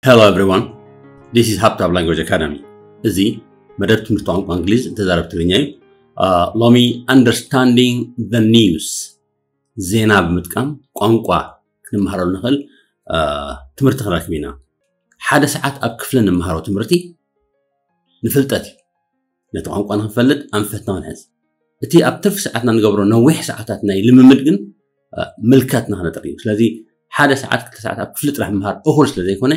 Hello everyone, this is ሃብታብ Language Academy። እዚ መደብ ትምህርቲ ቋንቋ እንግሊዝ እተዛረብ ትግርኛ እዩ። ሎሚ understanding the news፣ ዜና ብምጥቃም ቋንቋ ክንመሃረሉ ንኽእል ትምህርቲ ክንረክብ ኢና። ሓደ ሰዓት ኣብ ክፍሊ እንመሃሮ ትምህርቲ ንፍልጠት እዩ። ነቲ ቋንቋ ንኽንፈልጥ ኣንፈትና ክንሕዝ፣ እቲ ኣብ ትርፊ ሰዓትና ንገብሮ ነዊሕ ሰዓታት ናይ ልምምድ ግን ምልከትና ክነጥሪ እዩ። ስለዚ ሓደ ሰዓት ክልተ ሰዓት ኣብ ክፍሊ ጥራሕ ምምሃር እኹል ስለ ዘይኮነ፣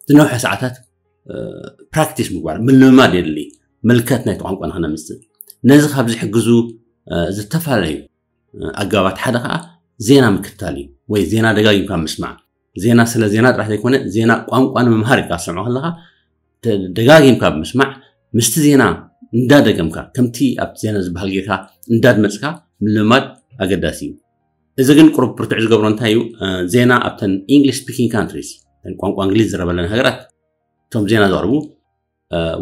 ዝነውሐ ሰዓታት ፕራክቲስ ምግባር ምልምማድ የድሊ። ምልከት ናይቲ ቋንቋ ንኽነምፅእ ነዚ ካብ ዝሕግዙ ዝተፈላለዩ ኣጋባት ሓደ ከዓ ዜና ምክትታል እዩ፣ ወይ ዜና ደጋጊምካ ምስማዕ። ዜና ስለ ዜና ጥራሕ ዘይኮነ ዜና ቋንቋ ንምምሃር ኢልካ ትሰምዖ ከለካ ደጋጊምካ ብምስማዕ ምስቲ ዜና እንዳደገምካ ከምቲ ኣብቲ ዜና ዝበሃል ጌርካ እንዳድመፅካ ምልማድ ኣገዳሲ እዩ። እዚ ግን ቁሩብ ብርቱዕ ዝገብሮ እንታይ እዩ? ዜና ኣብተን English speaking countries፣ ቋንቋ እንግሊዝ ዝረበለን ሃገራት እቶም ዜና ዘቕርቡ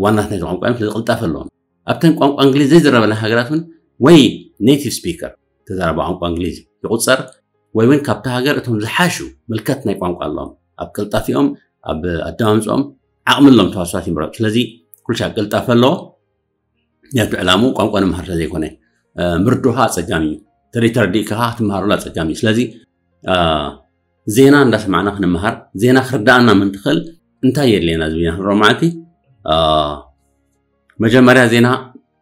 ዋናት ናይቲ ቋንቋ እዮም። ስለዚ ቅልጣፈ ኣለዎም። ኣብተን ቋንቋ እንግሊዝ ዘይዝረበለን ሃገራት እውን ወይ native speaker፣ ተዛራቢ ቋንቋ እንግሊዝ ይቁፀር፣ ወይ እውን ካብቲ ሃገር እቶም ዝሓሹ ምልከት ናይ ቋንቋ ኣለዎም። ኣብ ቅልጣፊኦም፣ ኣብ ኣደማምፅኦም ዓቕሚ ኣለዎም ተዋሳት ይምረፁ። ስለዚ ኩልሻ ቅልጣፈ ኣለዎ። ነቲ ዕላምኡ ቋንቋ ንምሃር ስለዘይኮነ ምርድኡ ከዓ ኣፀጋሚ እዩ። ተደይ ተረዲእካ ከዓ ክትመሃረሉ ኣፀጋሚ እዩ። ስለዚ ዜና እንዳሰማዕና ክንመሃር፣ ዜና ክርዳኣና ምንትኽእል እንታይ የድልየና ዝብና ክንረኦ ማለት መጀመርያ ዜና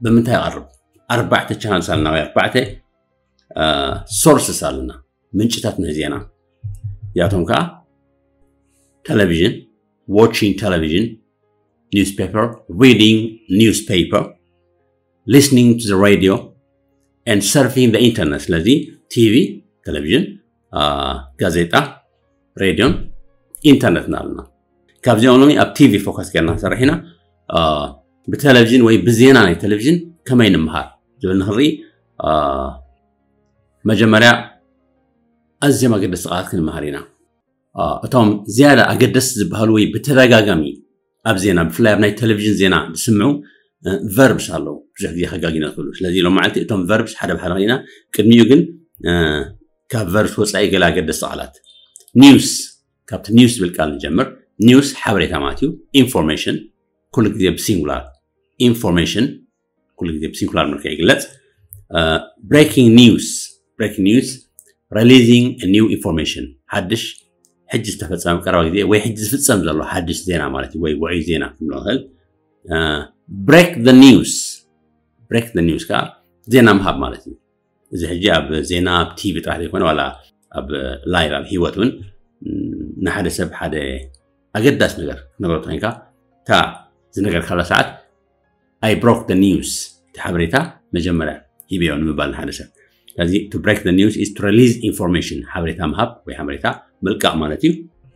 ብምንታይ ይቐርብ? ኣርባዕተ ቻነልስ ኣለና ወይ ኣርባዕተ ሶርስስ ኣለና፣ ምንጭታት ናይ ዜና። ያቶም ከዓ ቴሌቪዥን፣ watching television, newspaper, reading newspaper, listening to the radio, and surfing the internet። ስለዚ ቲቪ፣ ቴሌቪዥን፣ ጋዜጣ፣ ሬድዮን ኢንተርነትን ኣለና። ካብዚኦም ሎሚ ኣብ ቲቪ ፎከስ ጌርና ንሰርሕ ኢና። ብቴሌቪዥን ወይ ብዜና ናይ ቴሌቪዥን ከመይ ንምሃር ዝብል ንክርኢ መጀመርያ ኣዝዮም ኣገደስቲ ቃላት ክንመሃር ኢና። እቶም ዝያዳ ኣገደስቲ ዝበሃሉ ወይ ብተደጋጋሚ ኣብ ዜና ብፍላይ ኣብ ናይ ቴሌቪዥን ዜና ዝስምዑ ቨርብስ ኣለዉ፣ ብዙሕ ግዜ ከጋጊና ዝኽእሉ። ስለዚ ሎም መዓልቲ እቶም ቨርብስ ሓደ ብሓደ ኢና። ቅድሚኡ ግን ካብ ቨርብስ ወፃኢ ገለ ኣገደስቲ ቃላት። ኒውስ፣ ካብቲ ኒውስ ዝብል ቃል ንጀምር። ኒውስ ሓበሬታ ማለት እዩ። ኢንፎርሜሽን ኩሉ ግዜ ብሲንጉላር፣ ኢንፎርሜሽን ኩሉ ግዜ ብሲንጉላር መልክዕ ይግለፅ። ብሬኪንግ ኒውስ፣ ብሬኪንግ ኒውስ፣ releasing new information፣ ሓድሽ ሕጂ ዝተፈፀመ ቀረባ ግዜ ወይ ሕጂ ዝፍፀም ዘሎ ሓድሽ ዜና ማለት እዩ፣ ወይ ውዑይ ዜና ክንብሎ ንኽእል። ብሬክ ኒውስ፣ ብሬክ ኒውስ ከዓ ዜና ምሃብ ማለት እዩ። እዚ ሕጂ ኣብ ዜና ኣብ ቲቪ ጥራሕ ዘይኮነ ዋላ ኣብ ላይቭ ኣብ ህይወት እውን ንሓደ ሰብ ሓደ ኣገዳሲ ነገር ክትነግሮ ተኮይንካ እታ ዝነገርካላ ሰዓት I broke the news፣ እቲ ሓበሬታ መጀመርያ ሂበዮ ንምባል ንሓደ ሰብ። ስለዚ to break the news is to release information፣ ሓበሬታ ምሃብ ወይ ሓበሬታ ምልቃቕ ማለት እዩ።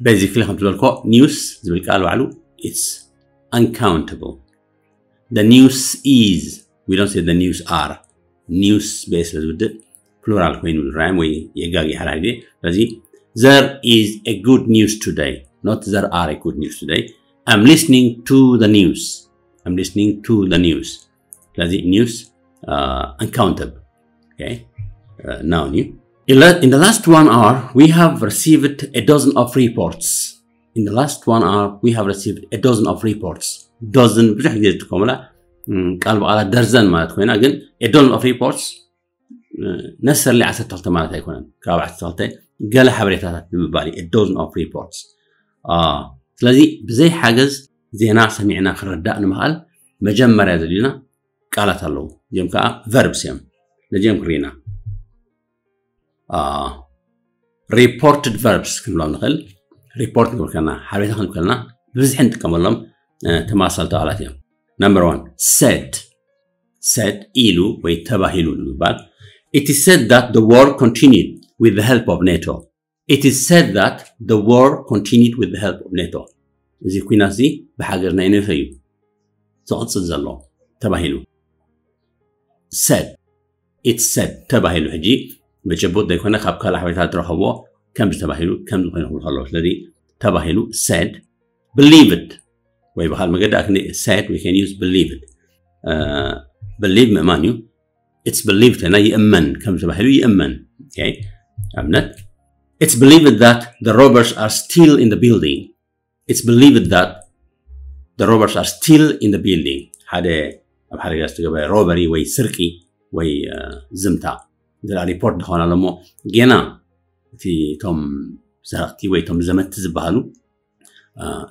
ቤዚክሊ ከም ዝበልኮ ኒውስ ዝብል ቃል ባዕሉ it's uncountable። The news is, we don't say the news are። ኒውስ ብኤ ስለ ዝውድእ ፕሉራል ኮይኑ ዝረኣዮም ወይ የጋጊ ሓዳ ግዜ። ስለዚ there is a good news today, not there are a good news today. I'm listening to the news. I'm listening to the news. ስለዚ ኒውስ ኣንካውንተብል ናውን እዩ። In the last one hour we have received a dozen of reports. In the last one hour we have received a dozen of reports. ዶዝን ብዙሕ ግዜ ዝጥቀሙላ ቃል ብቓላ ደርዘን ማለት ኮይና፣ ግን a dozen of reports ነሰርሊ ዓሰርተ ክልተ ማለት ኣይኮነን። ካብ ዓሰርተ ክልተ ገለ ሓበሬታታት ንምባል እዩ a dozen of reports። ስለዚ ብዘይ ሓገዝ ዜና ሰሚዕና ክንርዳእ ንምኽኣል መጀመርያ ዘድልዩና ቃላት ኣለዉ። እዚኦም ከዓ ቨርብስ እዮም። ነዚኦም ክርኢና reported verbs ክንብሎም ንኽእል። ሪፖርት ክንብል ከለና ሓበሬታ ክንብል ከለና ብብዝሒ ንጥቀመሎም ተመሳሰልቲ ቃላት እዮም። Number one, said። Said ኢሉ ወይ ተባሂሉ ንምባል። It is said that the war continued with the help of NATO. It is said that the war continued with the help of NATO. እዚ ኩናት እዚ ብሓገዝ ናይ ኔቶ እዩ ዝቕፅል ዘሎ ተባሂሉ። Said፣ it's said ተባሂሉ። ሕጂ ብጭቡጥ ዘይኮነ ካብ ካልእ ሓበሬታ ዝረኸብዎ ከምዚ ተባሂሉ ከምዚ ኮይኑ ክብሉ ከለዉ፣ ስለዚ ተባሂሉ። Said፣ believed ወይ ብካል መገዲ ኣክኒ said we can use believed። Believe ምእማን እዩ። It's believed ና ይእመን ከም ተባሂሉ ይእመን። ኣብነት it's believed that the robbers are still in the building። It's believed that the robbers are still in the building. ሓደ ኣብ ሓደጋ ዝተገበረ ሮበሪ ወይ ስርቂ ወይ ዝምታ እንተ ሪፖርት ዝኾነ ኣሎ እሞ፣ ጌና እቲ እቶም ሰረቕቲ ወይ እቶም ዘመቲ ዝበሃሉ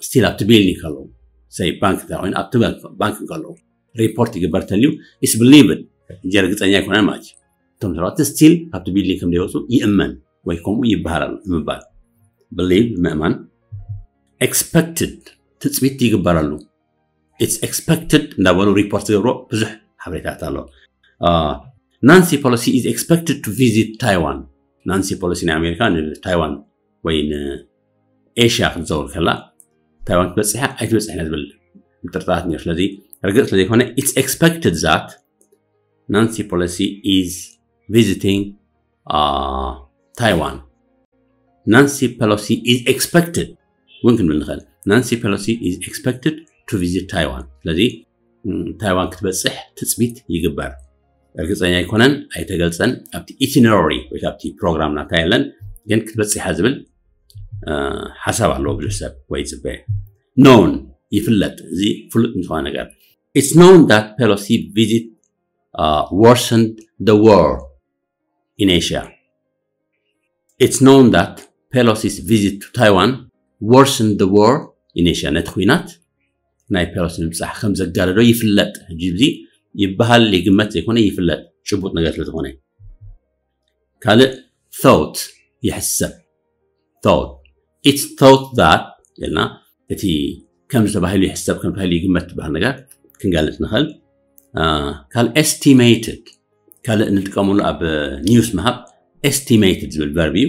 ስቲል ኣብቲ ቢልዲንግ ከለዉ፣ ሰይ ባንክ እንተ ኮይኑ ኣብቲ ባንክ ከለዉ ሪፖርት ይግበር ተልዩ፣ ኢስ ብሊቭድ፣ እንጂ ርግፀኛ ኣይኮነን ማለት እዩ። እቶም ሰረቕቲ ስቲል ካብቲ ቢልዲንግ ከም ዘይወፁ ይእመን ወይ ከምኡ ይበሃል ኣሎ ንምባል፣ ብሊቭ ምእማን፣ ኤክስፐክትድ ትፅቢት ይግበረሉ። It's expected እንዳበሉ ሪፖርት ዝገብሮ ብዙሕ ሓበሬታት ኣሎ። Nancy Pelosi is expected to visit Taiwan. ናንሲ ፖሎሲ ናይ ኣሜሪካ ንታይዋን ወይ ንኤሽያ ክትዘውር ከላ፣ ታይዋን ክትበፅሕ እያ ኣይትበፅሕን እያ ዝብል ምጥርጣራት ነይሩ። ስለዚ ርግፅ ስለዘይኮነ፣ it's expected that Nancy Pelosi is visiting Taiwan. Nancy Pelosi is expected እውን ክንብል ንኽእል። Nancy Pelosi is expected to visit Taiwan. ስለዚ ታይዋን ክትበፅሕ ትፅቢት ይግበር። ርግፀኛ ኣይኮነን፣ ኣይተገልፀን። ኣብቲ ኢቲነራሪ ወይ ኣብቲ ፕሮግራም ናታ የለን፣ ግን ክትበፅሕ እያ ዝብል ሓሳብ ኣለዎ ብዙሕ ሰብ ወይ ይፅበ። ኖውን ይፍለጥ፣ እዚ ፍሉጥ ዝኾነ ነገር። It's known that Pelosi visit worsened the war in Asia. It's known that Pelosi's visit to Taiwan worsened the war in Asia. ነቲ ኲናት ናይ ፔሎሲ ምብፃሕ ከም ዘጋደዶ ይፍለጥ። ሕጂ እዚ ይበሃል ይግመት ዘይኮነ ይፍለጥ፣ ጭቡጥ ነገር ስለ ዝኾነ። ካልእ፣ thought ይሕሰብ። Thought, it's thought that ኢልና እቲ ከም ዝተባሂሉ ይሕሰብ፣ ከም ተባሂሉ ይግመት ዝበሃል ነገር ክንገልፅ ንኽእል። ካልእ፣ ኤስቲሜትድ፣ ካልእ እንጥቀመሉ ኣብ ኒውስ ምሃብ ኤስቲሜትድ ዝብል ቨርብ እዩ።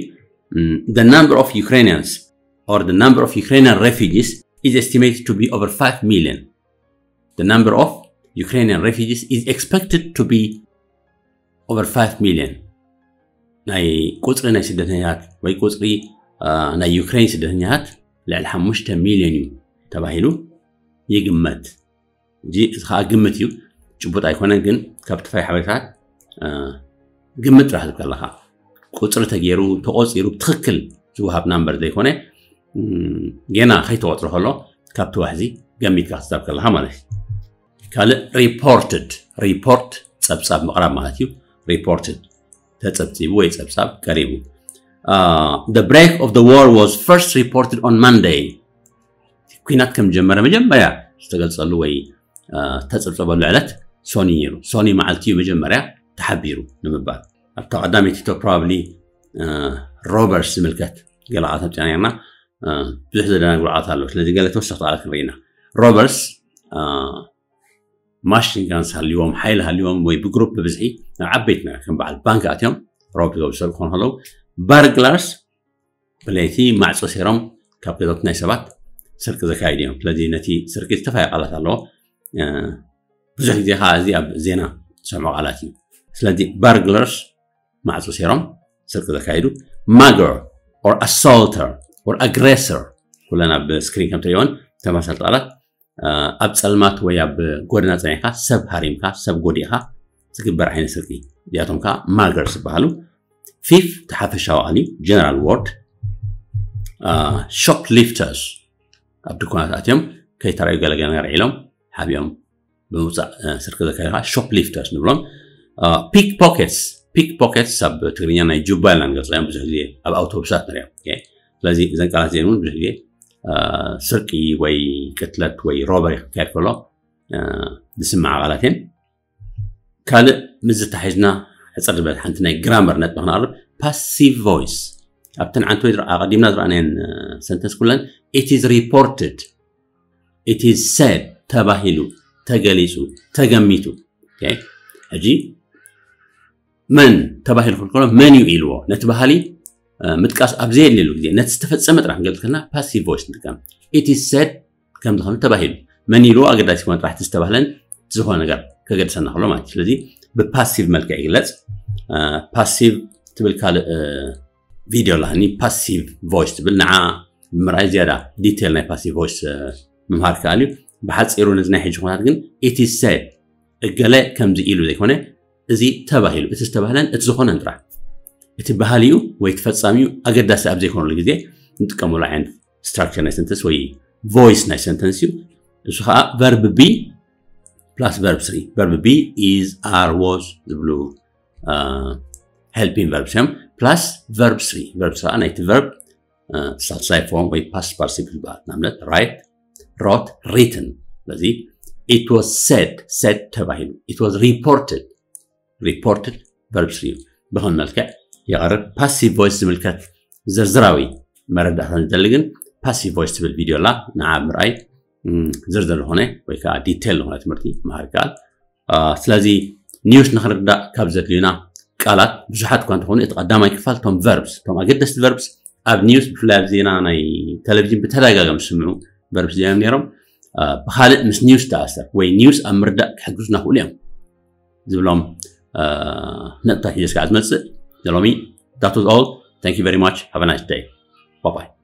The number of Ukrainians or the number of Ukrainian refugees is estimated to be over five million. The number of Ukrainian refugees is expected to be over five million. ናይ ቁፅሪ ናይ ስደተኛታት ወይ ቁፅሪ ናይ ዩክሬን ስደተኛታት ልዕሊ ሓሙሽተ ሚልዮን እዩ ተባሂሉ ይግመት። እዚ ከዓ ግምት እዩ፣ ጭቡጥ ኣይኮነን። ግን ካብ ተፋይ ሓበሬታት ግምት ጥራሕ ዝብል ከለካ ቁፅሪ ተገይሩ ተቆፂሩ ብትክክል ዝወሃብ ናምበር ዘይኮነ፣ ጌና ከይተቆፅረ ከሎ ካብቲ ዋሕዚ ገሚትካ ክትዛብ ከለካ ማለት እዩ። ካልእ፣ ሪፖርትድ፣ ሪፖርት ፀብፃብ ምቕራብ ማለት እዩ። ሪፖርትድ ተፀብፂቡ ወይ ፀብፃብ ቀሪቡ። The break of the war was first reported on Monday. ኩናት ከም ጀመረ መጀመርያ ዝተገልፀሉ ወይ ተፀብፀበሉ ዕለት ሶኒ ነይሩ። ሶኒ መዓልቲ እዩ መጀመርያ ተሓቢሩ ንምባል። ኣብታ ቀዳመይቲ ቶ ፕሮባብሊ ሮበርስ ዝምልከት ገለ ቃላት ኣምፂና ነርና። ብዙሕ ዘደናግሩ ቃላት ኣለዉ። ስለዚ ገለ ተወሰኽቲ ቃላት ክንርኢ ኢና። ሮበርስ ማሽን ጋንስ ሃልዎም፣ ሓይሊ ሃልዎም ወይ ብግሩፕ ብብዝሒ ናብ ዓበይቲ ነገር ከም በዓል ባንክ ኣትዮም ሮብ ዝገብሩ ሰብ ክኾኑ ከለዉ፣ ባርግላርስ ብለይቲ ማዕፆ ሰይሮም ካብ ገዛውቲ ናይ ሰባት ስርቂ ዘካይዱ እዮም። ስለዚ ነቲ ስርቂ ዝተፈላለዩ ቃላት ኣለዎ። ብዙሕ ግዜ ከዓ እዚ ኣብ ዜና ዝሰምዖ ቃላት እዩ። ስለዚ ባርግላርስ ማዕፆ ሰይሮም ስርቂ ዘካይዱ፣ ማገር or assaulter or aggressor ኩለን ኣብ ስክሪን ከም ትሪእወን ተመሳሰልቲ ቃላት ኣብ ፀልማት ወይ ኣብ ጎደና ፀኒሕካ ሰብ ሃሪምካ ሰብ ጎዲእካ ዝግበር ዓይነት ስርቂ እዚኣቶም ከዓ ማገርስ ይበሃሉ። ቲፍ እቲ ሓፈሻዊ ቃል እዩ፣ ጀነራል ወርድ። ሾፕ ሊፍተርስ ኣብ ድኳናት ኣትዮም ከይተራዩ ገለገለ ነገር ዒሎም ሓቢኦም ብምውፃእ ስርቂ ዘካይዱ ከዓ ሾፕ ሊፍተርስ ንብሎም። ፒክ ፖኬትስ፣ ፒክ ፖኬትስ ኣብ ትግርኛ ናይ ጁባ ኢልና ንገልፆ እዮም። ብዙሕ ግዜ ኣብ ኣውቶቡሳት ንሪኦም። ስለዚ እዘን ቃላት እዚአን እውን ብዙሕ ግዜ ስርቂ ወይ ቅትለት ወይ ሮበሪ ክካየድ ከሎ ዝስማዓ ቃላት እየን። ካልእ ምስ ዝተሓሒዝና ሕፅር ዝበለት ሓንቲ ናይ ግራመር ነጥቢ ክነቕርብ፣ ፓሲቭ ቮይስ። ኣብተን ዓንተ ወይ ኣቐዲምና ዝረኣናየን ሰንተንስ ኩለን it is reported, it is said ተባሂሉ፣ ተገሊፁ፣ ተገሚቱ። ሕጂ መን ተባሂሉ ክብል ከሎ መን እዩ ኢልዎ፣ ነቲ ባህሊ ምጥቃስ ኣብ ዘየድልየሉ ግዜ ነቲ ዝተፈፀመ ጥራሕ ክንገልፅ ከለና ፓሲቭ ቮይስ ንጥቀም። It is said ከም ዝኾነ ተባሂሉ፣ መን ኢልዎ ኣገዳሲ ኮነ ጥራሕ እቲ ዝተባህለን ዝኾነ ነገር ከገድሰና ከሎ ማለት እዩ። ስለዚ ብፓሲቭ መልክዕ ይግለፅ። ፓሲቭ ትብል ካልእ ቪድዮ ኣለሃኒ፣ ፓሲቭ ቮይስ ትብል፣ ንዓ ብምርኣይ ዝያዳ ዲቴል ናይ ፓሲቭ ቮይስ ምምሃር ከኣል እዩ። ብሓፂሩ ነዚ ናይ ሕጂ ኩነታት ግን it is said እገለ ከምዚ ኢሉ ዘይኮነ፣ እዚ ተባሂሉ፣ እቲ ዝተባህለን እቲ ዝኾነን ጥራሕ፣ እቲ ባህሊኡ ወይ እቲ ፈፃሚኡ ኣገዳሲ ኣብ ዘይኮነሉ ግዜ ንጥቀመሉ ዓይነት ስትራክቸር ናይ ሰንተንስ ወይ voice ናይ sentence እዩ። እሱ ከዓ verb be plus verb three። Verb be is, are, was ዝብሉ helping verbs እዮም። Plus verb three። Verb three ናይቲ verb ሳልሳይ form ወይ past participle ይበሃል። ንኣብነት write፣ wrote፣ written። ስለዚ it was said፣ said ተባሂሉ። It was reported፣ reported verb three እዩ። ብኸም መልክዕ ይቐርብ። Passive voice ዝምልከት ዝርዝራዊ መረዳእታ ዝደሊ ግን passive voice ትብል ቪድዮ ኣላ፣ ንዓ ምርኣይ ዝርዝር ዝኾነ ወይ ከዓ detail ዝኾነ ትምህርቲ ምሃር ይከኣል። ስለዚ news ንክርዳእ ካብ ዘድልዩና ቃላት ብዙሓት እኳ እንተኾኑ፣ እቲ ቀዳማይ ክፋል እቶም verbs፣ እቶም ኣገደስቲ verbs ኣብ news፣ ብፍላይ ኣብ ዜና ናይ ቴሌቪዥን ብተደጋጋሚ ዝስምዑ verbs እዮም ነይሮም። ብካልእ ምስ news ተኣሰር ወይ news ኣብ ምርዳእ ክሕግዙና ክእሉ እዮም ዝብሎም ነጥብታት ሒዘ ስካዕ ዝመፅእ ንሎሚ። That was all. Thank you very much. Have a nice day. Bye bye.